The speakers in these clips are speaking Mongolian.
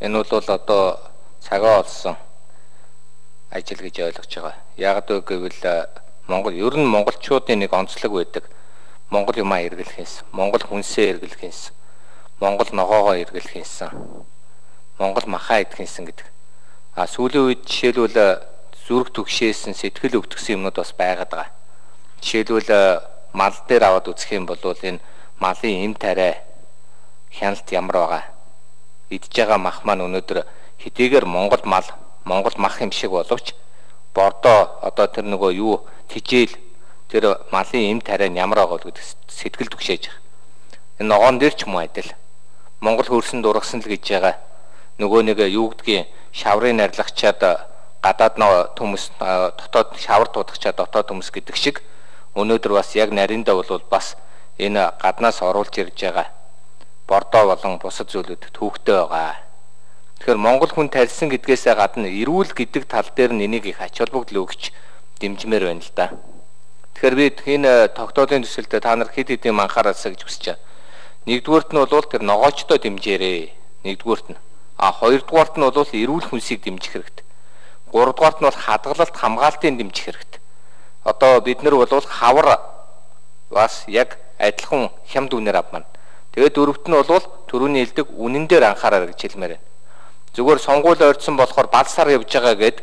Энэ бол одоо цагаа олсон ажил гэж ойлгож байгаа. Яг гэвэл Монгол ер нь монголчуудын нэг онцлог байдаг. Монгол юмаа эргэлхээс, Монгол хүнсээ эргэлхээс, Монгол ногоогоо эргэлхээс, Монгол махаа идэхээс гэдэг. Сүүлийн үед жишээлбэл зүрх түгшээсэн сэтгэл өвтгсөн юмнууд бас байгаад байгаа. Жишээлбэл мал дээр аваад үзэх юм бол энэ малын эм тариа хяналт ямар байгаа. Идж байгаа мах маань өнөөдөр хэдийгээр Монгол мал, Монгол мах юм шиг боловч бордоо одоо тэр нөгөө юу тижээл тэр малын эм тариа нь ямар байгаа гэдэг сэтгэл түгшээж байгаа. Энэ ногоон дээр ч юм уу адил. Монгол хөрсөн дургасан л гэж байгаа. Нөгөө нэг юу гэдгийг шаврын арилгачаад гадаад төмөс дотоод шавар туудагчаад дотоод төмөс гэдэг шиг өнөөдөр бас яг нариндаа бол бас энэ гаднаас оруулж ирж байгаа бордоо болон бусад зүйлүүд төвхтэй байгаа. Тэгэхээр Монгол хүн тарьсан гэдгээсээ гадна эрүүл гэдэг тал дээр нь энийг их ач холбогдол өгч дэмжмээр байна л да. Тэгэхээр би энэ тогтоолын төсөлдөө та нар хэд хэдийн анхаараасаа гэж хүсэж байна. Нэгдүгüүрт нь бол тэр ногоочдоо дэмжээрэй. Нэгдүгüүрт нь. Хоёрдугаарт нь бол эрүүл хүнсийг дэмжих хэрэгтэй. Гуравдугаарт нь бол хадгалалт хамгаалтын дэмжих хэрэгтэй. Одоо бид нар бол хавар бас яг адилхан хямд үнээр авмана. Тэгээд дөрөвт нь бол түрүүний хэлдэг үнэн дээр анхаараа гэж хэлмээр байна. Зүгээр сонгуул ойрцсон болохоор балсаар явж байгаа гэд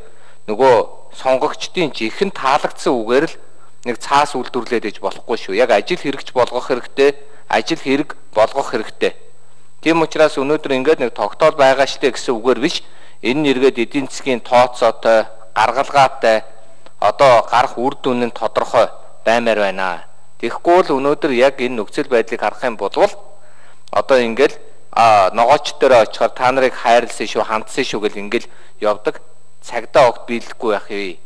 нөгөө сонгогчдын жихэн таалагдсан үгээр л нэг цаас үйлдвэрлээд иж болохгүй шүү. Яг ажил хэрэгч болгох хэрэгтэй, ажил хэрэг болгох хэрэгтэй. Тийм учраас өнөөдөр ингээд нэг тогтоол байгаа штэ гэсэн үгээр биш. Энэ нэргээд эдийн засгийн тооцоотой, гаргалгаатай одоо гарах үр дүн нь тодорхой баймаар байна. Тэгэхгүй л өнөөдөр яг энэ нөхцөл байдлыг харах юм бол одоо ингээл ногооч дээр очихоор та нарыг хайрлсан шүү, хандсан шүү гэл ингээл явдаг. Цагдаа огт биелэхгүй байх юм.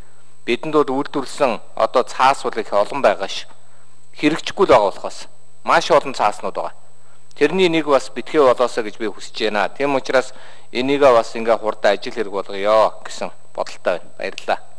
Бидэнд бол үйлдвэрлэсэн одоо цаас бол их олон байгаа ш. Хэрэгжихгүй л байгаа болохоос маш олон цааснууд байгаа. Тэрний нэг бас битгий болоосоо гэж би хүсэж байна. Тийм учраас энийгээ бас ингээ хурдан ажил хэрэг болгоё гэсэн бодолтой байна. Баярлалаа.